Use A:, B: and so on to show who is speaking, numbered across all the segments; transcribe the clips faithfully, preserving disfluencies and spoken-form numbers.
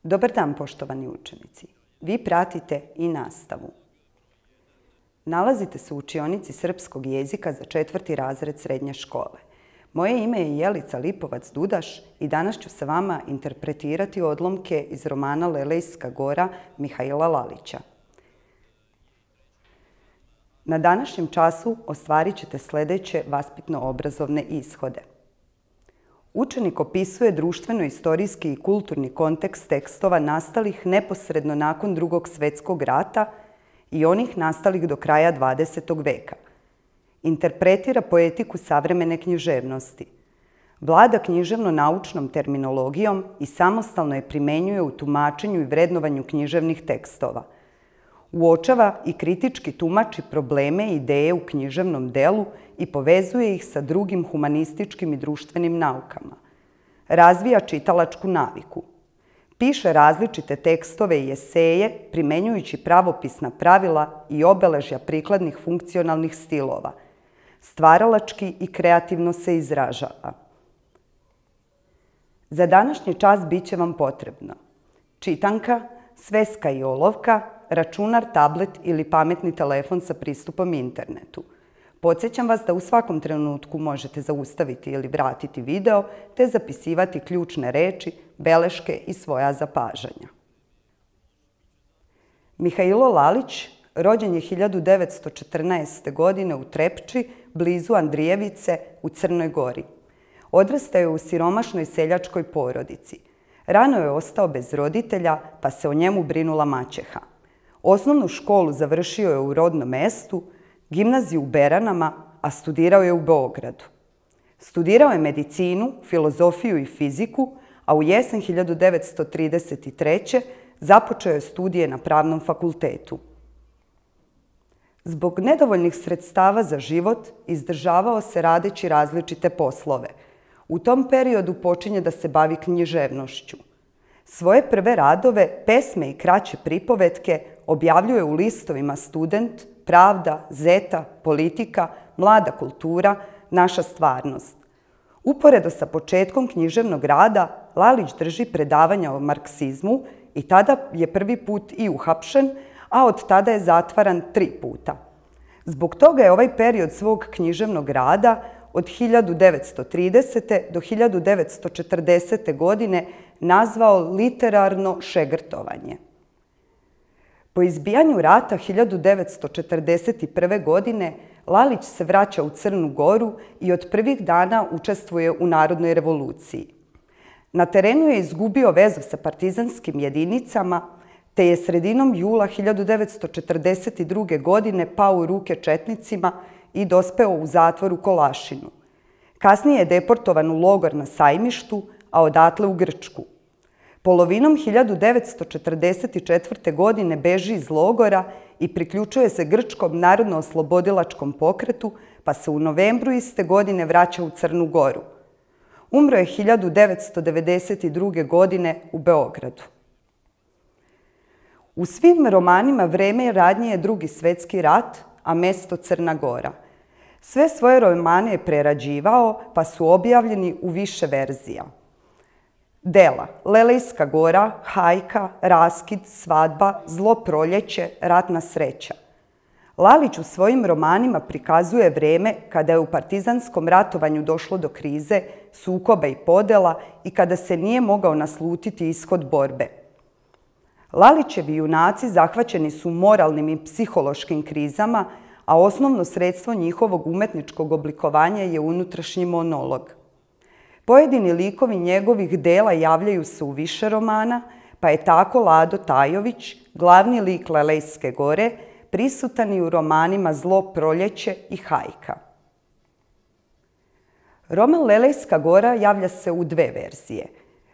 A: Dobar dan, poštovani učenici. Vi pratite i nastavu. Nalazite se u učionici srpskog jezika za četvrti razred srednje škole. Moje ime je Jelica Lipovac-Dudaš i danas ću sa vama interpretirati odlomke iz romana Lelejska gora Mihaila Lalića. Na današnjem času ostvarit ćete sljedeće vaspitno-obrazovne ishode. Učenik opisuje društveno-istorijski i kulturni kontekst tekstova nastalih neposredno nakon Drugog svjetskog rata i onih nastalih do kraja dvadesetog veka. Interpretira poetiku savremene književnosti. Vlada književno-naučnom terminologijom i samostalno je primjenjuje u tumačenju i vrednovanju književnih tekstova. Uočava i kritički tumači probleme i ideje u književnom delu i povezuje ih sa drugim humanističkim i društvenim naukama. Razvija čitalačku naviku. Piše različite tekstove i eseje primjenjujući pravopisna pravila i obeležja prikladnih funkcionalnih stilova. Stvaralački i kreativno se izražava. Za današnji čas bit će vam potrebno čitanka, sveska i olovka, računar, tablet ili pametni telefon sa pristupom internetu. Podsjećam vas da u svakom trenutku možete zaustaviti ili vratiti video te zapisivati ključne reči, beleške i svoja zapažanja. Mihailo Lalić rođen je hiljadu devetsto četrnaeste. godine u Trepči, blizu Andrijevice u Crnoj Gori. Odrastao je u siromašnoj seljačkoj porodici. Rano je ostao bez roditelja, pa se o njemu brinula maćeha. Osnovnu školu završio je u rodnom mestu, gimnaziju u Beranama, a studirao je u Beogradu. Studirao je medicinu, filozofiju i fiziku, a u jesen hiljadu devetsto trideset treće. započeo je studije na Pravnom fakultetu. Zbog nedovoljnih sredstava za život izdržavao se radeći različite poslove. U tom periodu počinje da se bavi književnošću. Svoje prve radove, pesme i kraće pripovetke objavljuje u listovima Student, Pravda, Zeta, Politika, Mlada kultura, Naša stvarnost. Uporedo sa početkom književnog rada, Lalić drži predavanja o marksizmu i tada je prvi put i uhapšen, a od tada je zatvaran tri puta. Zbog toga je ovaj period svog književnog rada od hiljadu devetsto tridesete. do hiljadu devetsto četrdesete. godine nazvao literarno šegrtovanje. Po izbijanju rata hiljadu devetsto četrdeset prve. godine Lalić se vraća u Crnu Goru i od prvih dana učestvuje u Narodnoj revoluciji. Na terenu je izgubio vezu sa partizanskim jedinicama, te je sredinom jula hiljadu devetsto četrdeset druge. godine pao u ruke četnicima i dospeo u zatvor u Kolašinu. Kasnije je deportovan u logor na Sajmištu, a odatle u Grčku. Polovinom hiljadu devetsto četrdeset četvrte. godine beži iz logora i priključuje se Grčkom narodno-oslobodilačkom pokretu, pa se u novembru iste godine vraća u Crnu Goru. Umro je hiljadu devetsto devedeset druge. godine u Beogradu. U svim romanima vreme radnje je Drugi svjetski rat, a mesto Crna Gora. Sve svoje romane je prerađivao, pa su objavljeni u više verzija. Dela Lelejska gora, Hajka, Raskid, Svadba, Zlo proljeće, Ratna sreća. Lalić u svojim romanima prikazuje vreme kada je u partizanskom ratovanju došlo do krize, sukoba i podela i kada se nije mogao naslutiti ishod borbe. Lalićevi junaci zahvaćeni su moralnim i psihološkim krizama, a osnovno sredstvo njihovog umetničkog oblikovanja je unutrašnji monolog. Pojedini likovi njegovih dela javljaju se u više romana, pa je tako Lado Tajović, glavni lik Lelejske gore, prisutan i u romanima Zlo proljeće i Hajka. Roman Lelejska gora javlja se u dve verzije.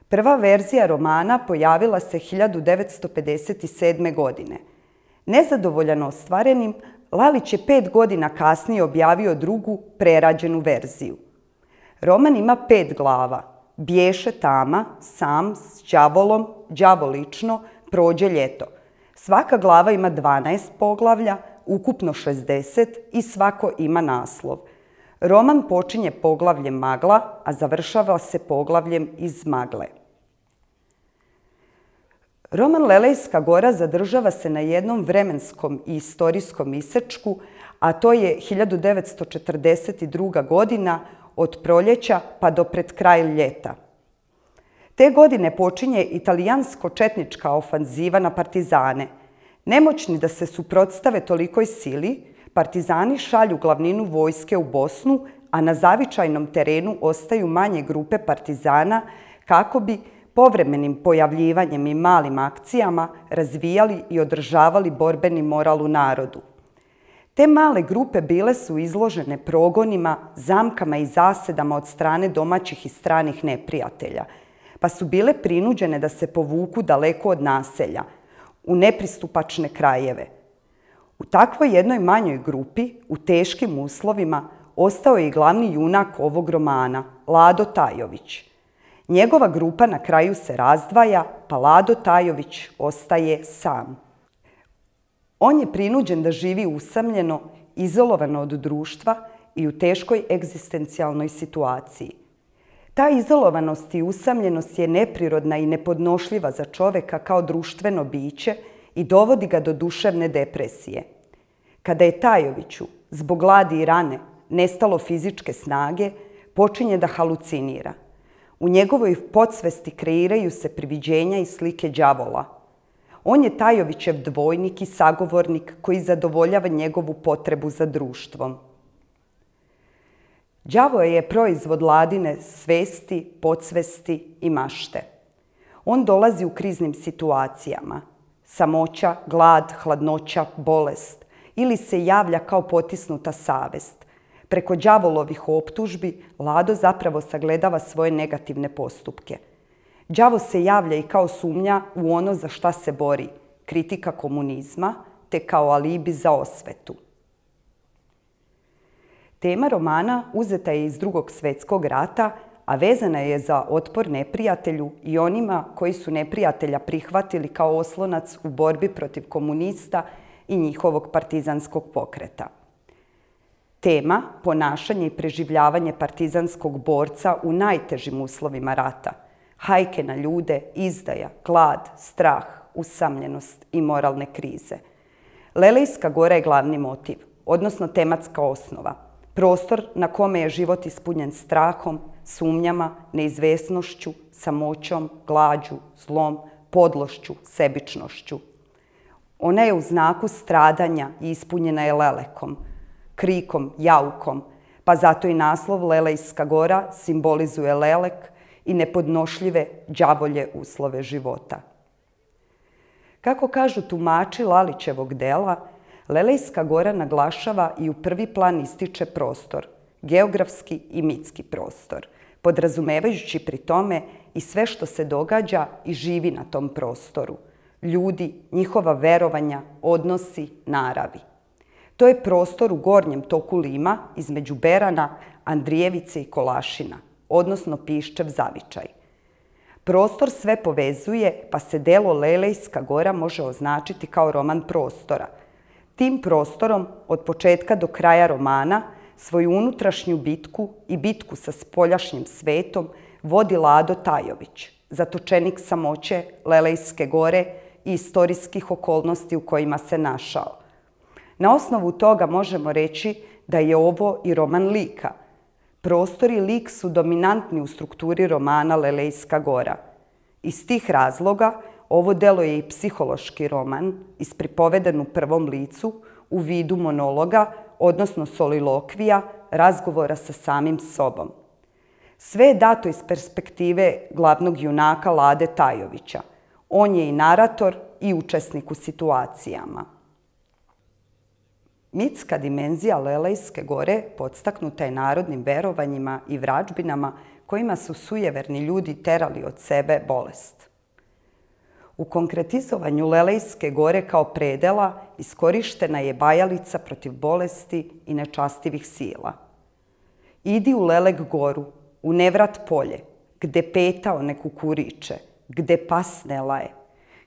A: Prva verzija romana pojavila se hiljadu devetsto pedeset sedme. godine. Nezadovoljan ostvarenim, Lalić je pet godina kasnije objavio drugu, prerađenu verziju. Roman ima pet glava. Bješe tama, sam, s đavolom, đavo lično, prođe ljeto. Svaka glava ima dvanaest poglavlja, ukupno šezdeset i svako ima naslov. Roman počinje poglavljem Magla, a završava se poglavljem Iz magle. Roman Lelejska gora zadržava se na jednom vremenskom i istorijskom isečku, a to je hiljadu devetsto četrdeset druga. godina od proljeća pa do pred kraj ljeta. Te godine počinje italijansko-četnička ofanziva na partizane. Nemoćni da se suprotstave tolikoj sili, partizani šalju glavninu vojske u Bosnu, a na zavičajnom terenu ostaju manje grupe partizana kako bi povremenim pojavljivanjem i malim akcijama razvijali i održavali borbeni moral u narodu. Te male grupe bile su izložene progonima, zamkama i zasedama od strane domaćih i stranih neprijatelja, pa su bile prinuđene da se povuku daleko od naselja, u nepristupačne krajeve. U takvoj jednoj manjoj grupi, u teškim uslovima, ostao je i glavni junak ovog romana, Lado Tajović. Njegova grupa na kraju se razdvaja, pa Lado Tajović ostaje sam. On je prinuđen da živi usamljeno, izolovano od društva i u teškoj egzistencijalnoj situaciji. Ta izolovanost i usamljenost je neprirodna i nepodnošljiva za čoveka kao društveno biće i dovodi ga do duševne depresije. Kada je Tajoviću, zbog gladi i rane, nestalo fizičke snage, počinje da halucinira. U njegovoj podsvesti kreiraju se priviđenja i slike đavola. On je Tajovićev dvojnik i sagovornik koji zadovoljava njegovu potrebu za društvom. Đavo je proizvod Ladine svesti, podsvesti i mašte. On dolazi u kriznim situacijama. Samoća, glad, hladnoća, bolest ili se javlja kao potisnuta savest. Preko đavolovih optužbi Lado zapravo sagledava svoje negativne postupke. Đavo se javlja i kao sumnja u ono za šta se bori, kritika komunizma, te kao alibi za osvetu. Tema romana uzeta je iz Drugog svjetskog rata, a vezana je za otpor neprijatelju i onima koji su neprijatelja prihvatili kao oslonac u borbi protiv komunista i njihovog partizanskog pokreta. Tema ponašanje i preživljavanje partizanskog borca u najtežim uslovima rata, hajke na ljude, izdaja, glad, strah, usamljenost i moralne krize. Lelejska gora je glavni motiv, odnosno tematska osnova, prostor na kome je život ispunjen strahom, sumnjama, neizvesnošću, samoćom, glađu, zlom, podlošću, sebičnošću. Ona je u znaku stradanja i ispunjena je lelekom, krikom, jaukom, pa zato i naslov Lelejska gora simbolizuje lelek i nepodnošljive đavolje uslove života. Kako kažu tumači Lalićevog dela, Lelejska gora naglašava i u prvi plan ističe prostor, geografski i mitski prostor, podrazumevajući pri tome i sve što se događa i živi na tom prostoru, ljudi, njihova verovanja, odnosi, naravi. To je prostor u gornjem toku Lima između Berana, Andrijevice i Kolašina, odnosno Piščev zavičaj. Prostor sve povezuje, pa se delo Lelejska gora može označiti kao roman prostora. Tim prostorom, od početka do kraja romana, svoju unutrašnju bitku i bitku sa spoljašnjim svetom vodi Lado Tajović, zatočenik samoće, Lelejske gore i istorijskih okolnosti u kojima se našao. Na osnovu toga možemo reći da je ovo i roman lika. Prostor i lik su dominantni u strukturi romana Lelejska gora. Iz tih razloga ovo delo je i psihološki roman, ispripoveden u prvom licu, u vidu monologa, odnosno solilokvija, razgovora sa samim sobom. Sve je dato iz perspektive glavnog junaka Lade Tajovića. On je i narator i učesnik u situacijama. Mitska dimenzija Lelejske gore podstaknuta je narodnim verovanjima i vražbinama kojima su sujeverni ljudi terali od sebe bolest. U konkretizovanju Lelejske gore kao predela iskorištena je bajalica protiv bolesti i nečastivih sila. Idi u Lelek goru, u Nevrat polje, gde petao ne kukuriče, gde pas ne laje,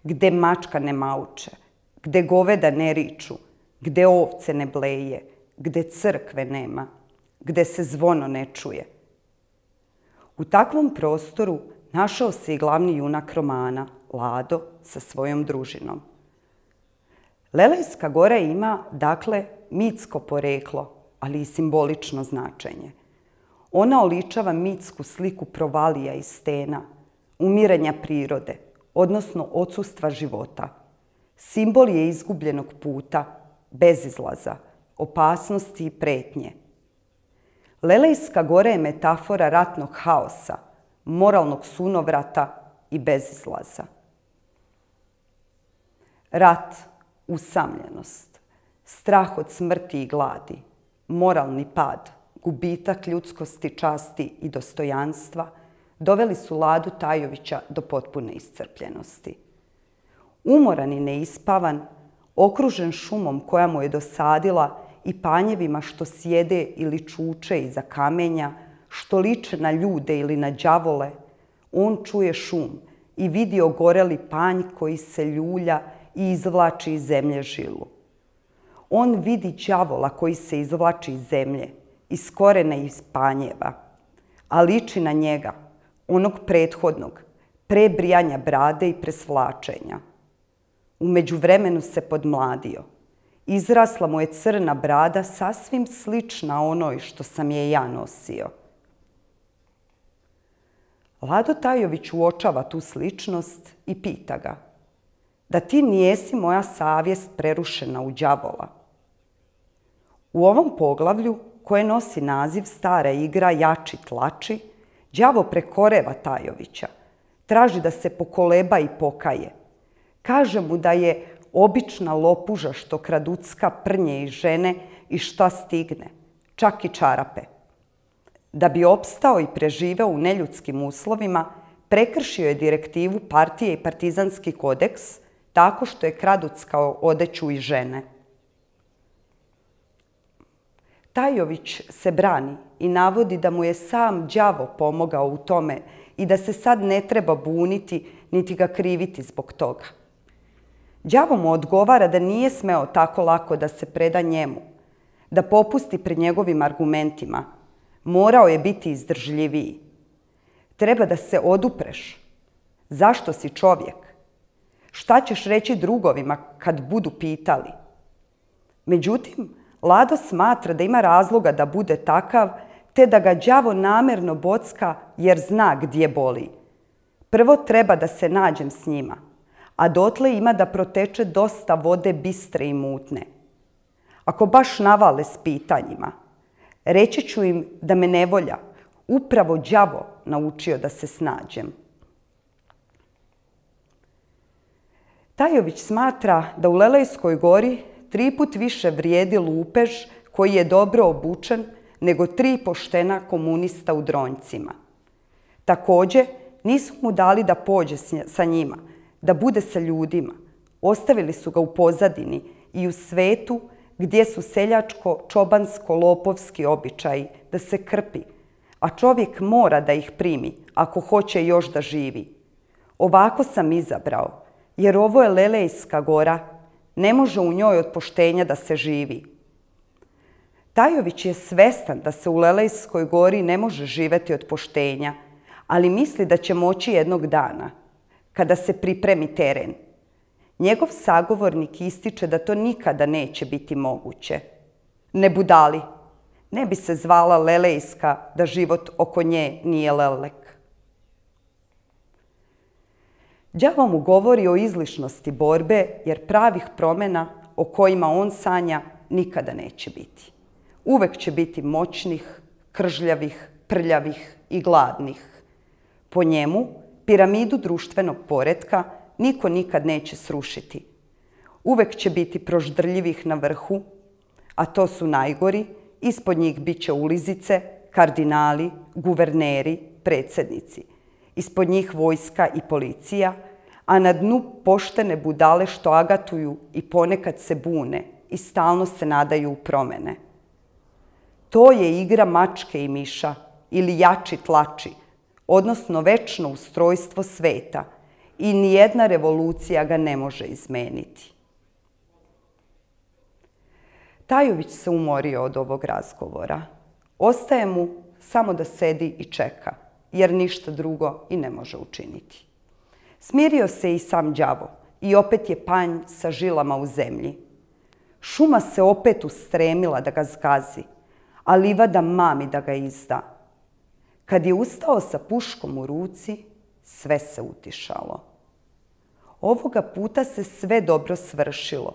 A: gde mačka ne mauče, gde goveda ne riču, gde ovce ne bleje, gde crkve nema, gde se zvono ne čuje. U takvom prostoru našao se i glavni junak romana, Lado sa svojom družinom. Lelejska gora ima, dakle, mitsko poreklo, ali i simbolično značenje. Ona oličava mitsku sliku provalija i stena, umiranja prirode, odnosno odsustva života. Simbol je izgubljenog puta, bezizlaza, opasnosti i pretnje. Lelejska gora je metafora ratnog haosa, moralnog sunovrata i bezizlaza. Rat, usamljenost, strah od smrti i gladi, moralni pad, gubitak ljudskosti, časti i dostojanstva doveli su Ladu Tajovića do potpune iscrpljenosti. Umoran i neispavan, okružen šumom koja mu je dosadila i panjevima što sjede ili čuče iza kamenja, što liče na ljude ili na đavole, on čuje šum i vidi ogoreli panj koji se ljulja i izvlači iz zemlje žilu. On vidi đavola koji se izvlači iz zemlje, iz korena i iz panjeva, a liči na njega, onog prethodnog, pre brijanja brade i presvlačenja. U međuvremenu se podmladio. Izrasla mu je crna brada sasvim slična onoj što sam je ja nosio. Lado Tajović uočava tu sličnost i pita ga: da ti nijesi moja savjest prerušena u đavola? U ovom poglavlju, koje nosi naziv Stara igra jači tlači, đavo prekoreva Tajovića, traži da se pokoleba i pokaje. Kaže mu da je obična lopuža što kraducka prnje i žene i šta stigne, čak i čarape. Da bi opstao i preživeo u neljudskim uslovima, prekršio je direktivu partije i partizanski kodeks tako što je kraduckao odeću i žene. Tajović se brani i navodi da mu je sam đavo pomogao u tome i da se sad ne treba buniti niti ga kriviti zbog toga. Đavo mu odgovara da nije smeo tako lako da se preda njemu, da popusti pred njegovim argumentima. Morao je biti izdržljiviji. Treba da se odupreš. Zašto si čovjek? Šta ćeš reći drugovima kad budu pitali? Međutim, Lado smatra da ima razloga da bude takav, te da ga đavo namerno bocka jer zna gdje boli. Prvo treba da se nađem s njima, a dotle ima da proteče dosta vode bistre i mutne. Ako baš navale s pitanjima, reći ću im da me ne volja, upravo đavo naučio da se snađem. Tajović smatra da u Lelejskoj gori tri put više vrijedi lupež koji je dobro obučen nego tri poštena komunista u dronjcima. Također, nisu mu dali da pođe sa njima, da bude sa ljudima. Ostavili su ga u pozadini i u svetu gdje su seljačko-čobansko-lopovski običaji da se krpi, a čovjek mora da ih primi ako hoće još da živi. Ovako sam izabrao, jer ovo je Lelejska gora, ne može u njoj od poštenja da se živi. Tajović je svestan da se u Lelejskoj gori ne može živeti od poštenja, ali misli da će moći jednog dana, kada se pripremi teren. Njegov sagovornik ističe da to nikada neće biti moguće. Ne budali, ne bi se zvala Lelejska da život oko nje nije lelek. Đavo mu govori o izlišnosti borbe, jer pravih promjena o kojima on sanja nikada neće biti. Uvek će biti moćnih, kržljavih, prljavih i gladnih. Po njemu, piramidu društvenog poretka niko nikad neće srušiti. Uvek će biti proždrljivih na vrhu, a to su najgori, ispod njih bit će ulizice, kardinali, guverneri, predsjednici. Ispod njih vojska i policija, a na dnu poštene budale što agatuju i ponekad se bune i stalno se nadaju u promene. To je igra mačke i miša ili jači tlači, odnosno večno ustrojstvo sveta i nijedna revolucija ga ne može izmeniti. Tajović se umorio od ovog razgovora. Ostaje mu samo da sedi i čeka, jer ništa drugo i ne može učiniti. Smirio se i sam đavo i opet je panj sa žilama u zemlji. Šuma se opet ustremila da ga zgazi, a livada mami da ga izda. Kad je ustao sa puškom u ruci, sve se utišalo. Ovoga puta se sve dobro svršilo,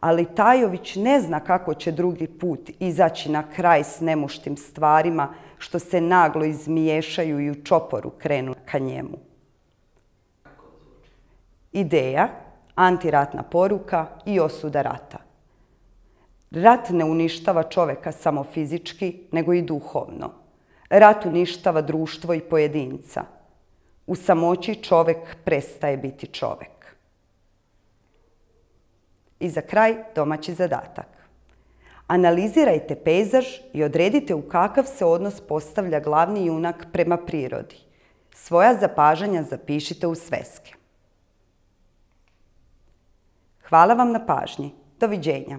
A: ali Tajović ne zna kako će drugi put izaći na kraj s nemuštim stvarima što se naglo izmiješaju i u čoporu krenu ka njemu. Ideja, antiratna poruka i osuda rata. Rat ne uništava čoveka samo fizički, nego i duhovno. Rat uništava društvo i pojedinca. U samoći čovek prestaje biti čovek. I za kraj domaći zadatak. Analizirajte pejzaž i odredite u kakav se odnos postavlja glavni junak prema prirodi. Svoja zapažanja zapišite u sveske. Hvala vam na pažnji. Doviđenja.